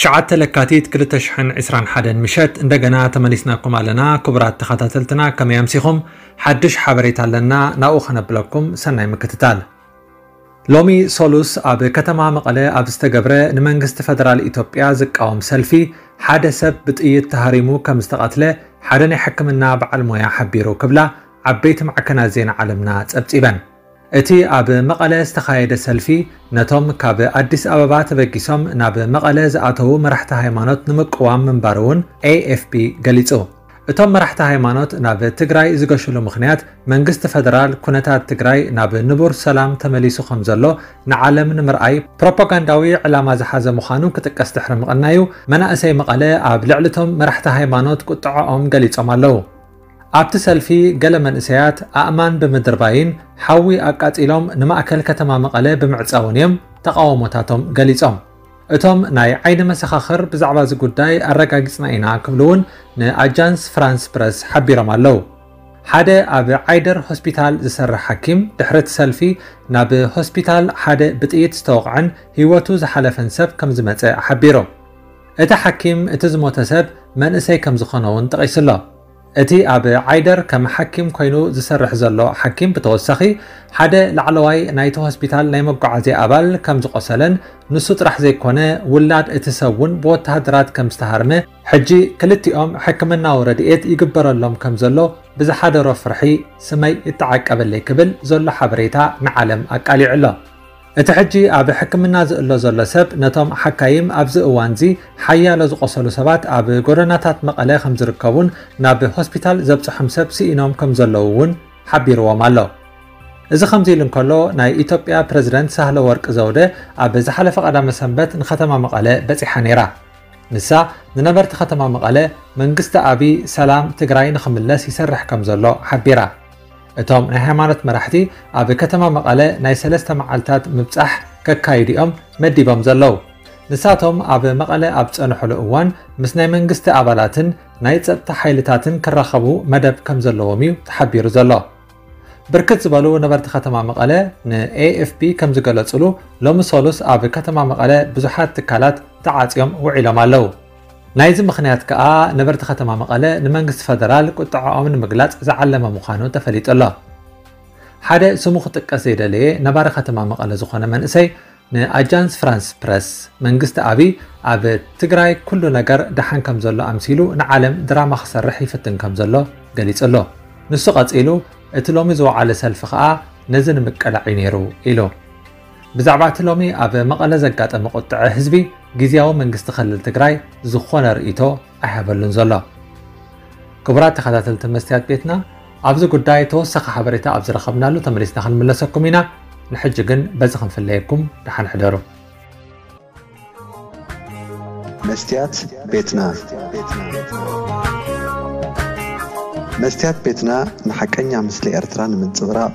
ትሽዓተ ለካቲት ክልተ ሽሕን ዕስራን ሓደን ምሸት እንደገና ተመሊስናኩም ኣለና። ክቡራት ተኸታተልትና፣ ከመይ ኣምሲኹም? ሓድሽ ሓበሬታ ኣለና፣ ናብኡ ከነብለኩም። ሰናይ ምክትታል። ሎሚ ሶሉስ ኣብ ከተማ መቐለ ኣብ ዝተገብረ ንመንግስቲ ፈደራል ኢትዮጵያ ዝቃወም ሰልፊ ሓደ ሰብ ብጥይት ተሃሪሙ ከም ዝተቐትለ ሓደ ናይ ሕክምና በዓል ሞያ ሓቢሩ ክብላ ዓበይቲ ማዕከናት ዜና ዓለምና ጸብጺበን። እቲ ኣብ መቐለ ዝተኻየደ ሰልፊ ነቶም ካብ ኣዲስ ኣበባ ተበጊሶም ናብ መቐለ ዝኣተዉ መራሕቲ ሃይማኖት ንምቅዋም ምንባሩ እውን ኤ ኤፍ ፒ ገሊጹ። እቶም መራሕቲ ሃይማኖት ናብ ትግራይ ዝገሽሉ ምኽንያት መንግስቲ ፈደራል ኩነታት ትግራይ ናብ ንቡር ሰላም ተመሊሱ ከም ዘሎ ንዓለም ንምርኣይ ፕሮፓጋንዳዊ ዕላማ ዝሓዘ ምዃኑ ክጥቀስ ድሕሪ ምቕናዩ፣ መናእሰይ መቐለ ኣብ ልዕሊ እቶም መራሕቲ ሃይማኖት ቁጥዐኦም ገሊጾም ኣለዉ። ኣብቲ ሰልፊ ገለ መንእሰያት ኣእማን ብምድርባይን ሓዊ ኣቃጺሎም ንማእከል ከተማ መቐለ ብምዕጻውን እዮም ተቓውሞታቶም ገሊጾም። እቶም ናይ ዓይኒ መሰኻኽር ብዛዕባ እዚ ጉዳይ ኣረጋጊጽና ኢና ክብሉ እውን ንኣጃንስ ፍራንስ ፕረስ ሓቢሮም ኣለዉ። ሓደ ኣብ ዓይደር ሆስፒታል ዝሰርሕ ሓኪም ድሕሪ እቲ ሰልፊ ናብ ሆስፒታል ሓደ ብጥይት ዝተወቕዐን ህይወቱ ዝሓለፈን ሰብ ከም ዝመጸ ሓቢሩ። እቲ ሓኪም እቲ ዝሞተ ሰብ መንእሰይ ከም ዝኾነ እውን ጠቒሱ ኣሎ። እቲ ኣብ ዓይደር ከም ሓኪም ኮይኑ ዝሰርሕ ዘሎ ሓኪም ብተወሳኺ ሓደ ላዕለዋይ ናይቲ ሆስፒታል ናይ መጓዓዝያ ኣባል ከም ዝቖሰለን ንሱ ጥራሕ ዘይኮነ ውላድ እቲ ሰብ እውን ብወተሃደራት ከም ዝተሃርመ፣ ሕጂ ክልቲኦም ሕክምናዊ ረድኤት ይግበረሎም ከም ዘሎ ብዝሓደሮ ፍርሒ ስመይ ይተዓቀበለይ ክብል ዘሎ ሓበሬታ ንዓለም ኣቃሊዑ ኣሎ። እቲ ሕጂ ኣብ ሕክምና ዝእሎ ዘሎ ሰብ ነቶም ሓካይም ኣብዚ እዋንዚ ሓያሎ ዝቖሰሉ ሰባት ኣብ ጎደናታት መቐለ ከም ዝርከቡን ናብ ሆስፒታል ዘብጽሖም ሰብ ስኢኖም ከም ዘለዉ እውን ሓቢርዎም ኣሎ። እዚ ከምዚ ኢሉ እንከሎ ናይ ኢትዮጵያ ፕረዚደንት ሳህለ ወርቅ ዘውደ ኣብ ዝሓለፈ ቀዳመ ሰንበት ንከተማ መቐለ በጺሓ ነይራ። ንሳ ንነበርቲ ከተማ መቐለ መንግስቲ ኣብይ ሰላም ትግራይ ንኽምለስ ይሰርሕ ከም ዘሎ ሓቢራ። እቶም ናይ ሃይማኖት መራሕቲ ኣብ ከተማ መቐለ ናይ ሰለስተ መዓልታት ምብጻሕ ከካይዱ እዮም መዲቦም ዘለዉ። ንሳቶም ኣብ መቐለ ኣብ ዝጸንሕሉ እዋን ምስ ናይ መንግስቲ ኣባላትን ናይ ጸጥታ ሓይልታትን ክራኸቡ መደብ ከም ዘለዎም እዩ ተሓቢሩ ዘሎ። ብርክት ዝበሉ ነበርቲ ከተማ መቐለ ን ኤ ኤፍ ፒ ከም ዝገለጹሉ፣ ሎሚ ሶሉስ ኣብ ከተማ መቐለ ብዙሓት ትካላት ተዓጽዮም ውዒሎም ኣለዉ። ናይዚ ምኽንያት ከኣ ነበርቲ ከተማ መቐለ ንመንግስቲ ፈደራል ቁጥዐኦም ንምግላጽ ዝዓለመ ምዃኑ ተፈሊጡ ኣሎ። ሓደ ስሙ ክጥቀስ ዘይደለየ ነባሪ ከተማ መቐለ ዝኾነ መንእሰይ ንኣጃንስ ፍራንስ ፕረስ፣ መንግስቲ ኣብይ ኣብ ትግራይ ኩሉ ነገር ደሓን ከም ዘሎ ኣምሲሉ ንዓለም ድራማ ክሰርሕ ይፍትን ከም ዘሎ ገሊጹ ኣሎ። ንሱ ቀጺሉ፣ እቲ ሎሚ ዝወዓለ ሰልፊ ከኣ ነዚ ንምቅላዕ እዩ ነይሩ ኢሉ። ብዛዕባ እቲ ሎሚ ኣብ መቐለ ዘጋጠመ ቁጥዐ ህዝቢ፣ ግዝያዊ መንግስቲ ክልል ትግራይ ዝኾነ ርእይቶ ኣይሃበሉን ዘሎ። ክቡራት ተኸታተልቲ መስትያት ቤትና፣ ኣብዚ ጉዳይ ተወሳኺ ሓበሬታ ኣብ ዝረኸብናሉ ተመሊስና ክንምለሰኩም ኢና። ንሕጂ ግን በዚ ክንፍለየኩም፣ ደሓን ሕደሩ። መስትያት ቤትና። መስትያት ቤትና ንሓቀኛ ምስሊ ኤርትራ ንምንጽብራቕ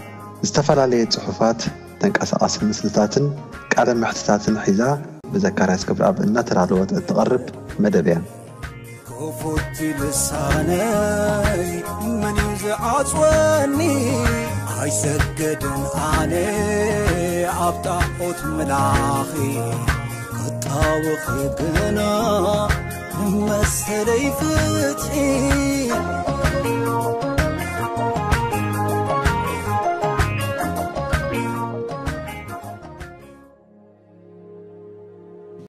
ዝተፈላለየ ጽሑፋት፣ ተንቀሳቓሲ ምስልታትን ቃለ መሕትታትን ሒዛ ብዘካርያስ ገብረኣብ እናተዳለወት እትቐርብ መደብ እያ። ክፉት ልሳነይ መን እዩ ዝዓጽወኒ? ኣይሰገድን ኣነ ኣብ ጣዖት ምላኺ፣ ክጣወኺ ግና መሰለይ ፍትሒ።